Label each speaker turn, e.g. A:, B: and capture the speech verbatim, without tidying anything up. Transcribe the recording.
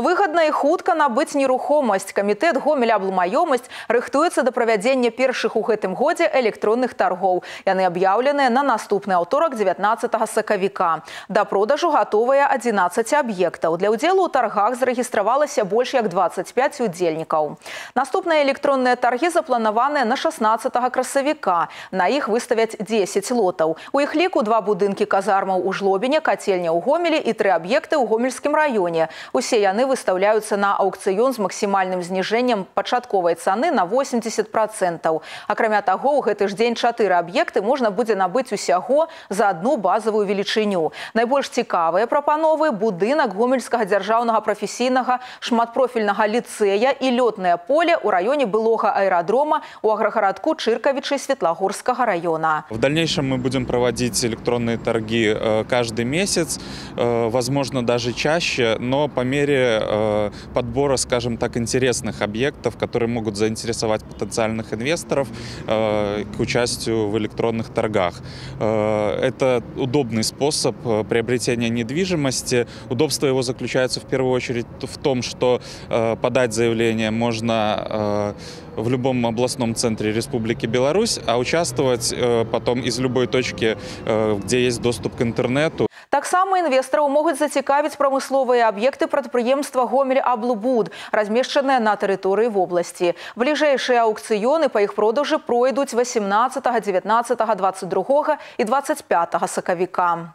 A: Выгадна і хутка набыць нерухомасць. Камітэт Гомель-Аблмаёмасць рыхтуецца да правядзення першых у гэтым годзе электронных таргоў. Яны аб'яўленыя на наступны аўторак дзевятнаццатага сакавіка. Да продажу гатовыя адзінаццаць аб'ектаў. Для ўдзелу ў таргах зарэгістравалася больш як дваццаць пяць удзельнікаў. Наступныя электронныя таргі запланаваныя на шаснаццатага красавіка. На іх выставяць дзесяць лотаў. У іх ліку два будынкі казармаў у Жлобіне, кацельня ў Гомелі і тры аб'екты ў Гомельскім раёне. Усе яны выставляюцца на аўкцыён з максімальным зніжэннем пачатковай цаны на восемьдесят процентаў. Акрамя таго, у гэты ж дзень чатыры аб'екты можна будзе набыць усяго за адну базавую велічыню. Найбольш цікавыя прапановы – будынак Гомельскага дзяржаўнага прафесійнага шматпрофільнага ліцэя і лётнае поле ў раёне былога аэрадрома у аграгарадку Чыркавічы Светлагорскага района.
B: В дальнейшем мы будем проводить электронные торги каждый месяц, возможно, даже чаще, но по мере подбора, скажем так, интересных объектов, которые могут заинтересовать потенциальных инвесторов к участию в электронных торгах. Это удобный способ приобретения недвижимости. Удобство его заключается в первую очередь в том, что подать заявление можно в любом областном центре Республики Беларусь, а участвовать потом из любой точки, где есть доступ к интернету.
A: Таксама інвестараў могуць зацікавіць прамысловыя аб'екты прадпрыемства Гомель-Аблбуд, размешчаныя на тэрыторыі вобласці. Бліжэйшыя аўкцыёны па іх продажы пройдуць васемнаццатага, дзевятнаццатага, дваццаць другога і дваццаць пятага сакавіка.